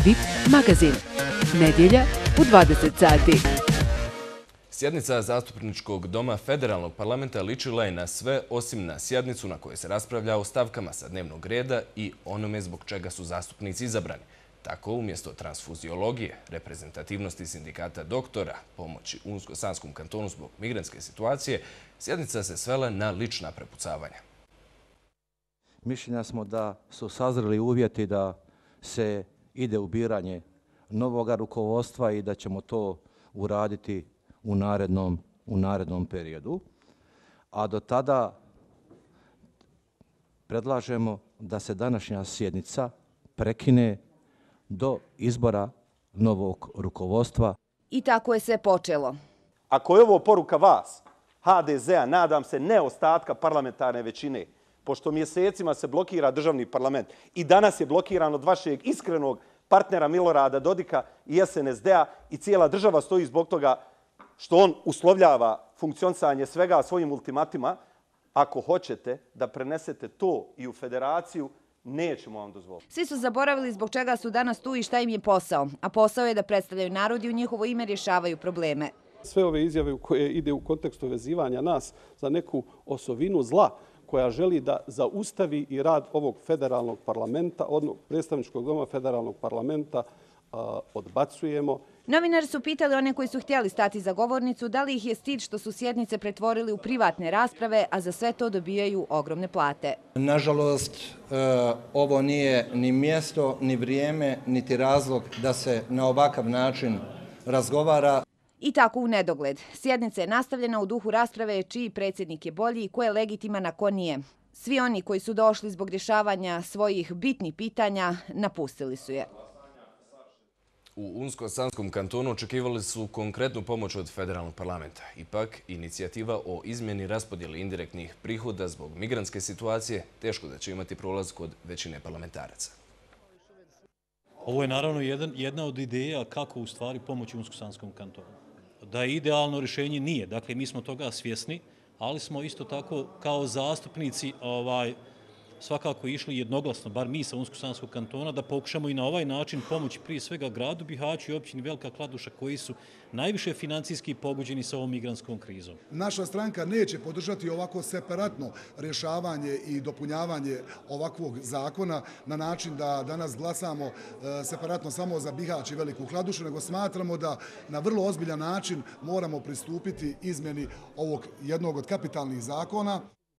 VIP magazin. Nedjelja u 20 sati. Sjednica Zastupničkog doma Federalnog parlamenta ličila je na sve osim na sjednicu na kojoj se raspravlja o stavkama sa dnevnog reda i onome zbog čega su zastupnici izabrani. Tako, umjesto transfuziologije, reprezentativnosti sindikata doktora, pomoći Unsko-Sanskom kantonu zbog migrantske situacije, sjednica se svela na lična prepucavanja. Mišljenja smo da su sazreli uvjeti da se ide u biranje novoga rukovodstva i da ćemo to uraditi u narednom periodu. A do tada predlažemo da se današnja sjednica prekine do izbora novog rukovodstva. I tako je sve počelo. Ako je ovo poruka vas, HDZ-a, nadam se ne ostatka parlamentarne većine, pošto mjesecima se blokira državni parlament i danas je blokiran od vašeg iskrenog partnera Milorada Dodika i SNSD-a i cijela država stoji zbog toga što on uslovljava funkcionisanje svega svojim ultimatima. Ako hoćete da prenesete to i u federaciju, nećemo vam dozvoliti. Svi su zaboravili zbog čega su danas tu i šta im je posao. A posao je da predstavljaju narod i u njihovo ime rješavaju probleme. Sve ove izjave koje ide u kontekstu vezivanja nas za neku osovinu zla koja želi da zaustavi i rad ovog federalnog parlamenta, odnosno predstavničkog doma federalnog parlamenta, odbacujemo. Novinari su pitali one koji su htjeli stati za govornicu da li ih je stid što su sjednice pretvorili u privatne rasprave, a za sve to dobijaju ogromne plate. Nažalost, ovo nije ni mjesto, ni vrijeme, niti razlog da se na ovakav način razgovara. I tako u nedogled. Sjednica je nastavljena u duhu rasprave čiji predsjednik je bolji i ko je legitiman, a ko nije. Svi oni koji su došli zbog rješavanja svojih bitnih pitanja napustili su je. U Unsko-Sanskom kantonu očekivali su konkretnu pomoć od federalnog parlamenta. Ipak, inicijativa o izmjeni raspodjeli indirektnih prihoda zbog migrantske situacije teško da će imati prolaz kod većine parlamentaraca. Ovo je naravno jedna od ideja kako u stvari pomoći Unsko-Sanskom kantonu. Da je idealno rješenje nije. Dakle, mi smo toga svjesni, ali smo isto tako kao zastupnici svakako išli jednoglasno, bar mi sa Unsko-Sanskog kantona, da pokušamo i na ovaj način pomoći prije svega gradu Bihaću i općini Velika Kladuša koji su najviše financijski pogođeni sa ovom migrantskom krizom. Naša stranka neće podržati ovako separatno rješavanje i dopunjavanje ovakvog zakona na način da danas glasamo separatno samo za Bihać i Veliku Kladušu, nego smatramo da na vrlo ozbiljan način moramo pristupiti izmjeni ovog jednog od kapitalnih zakona.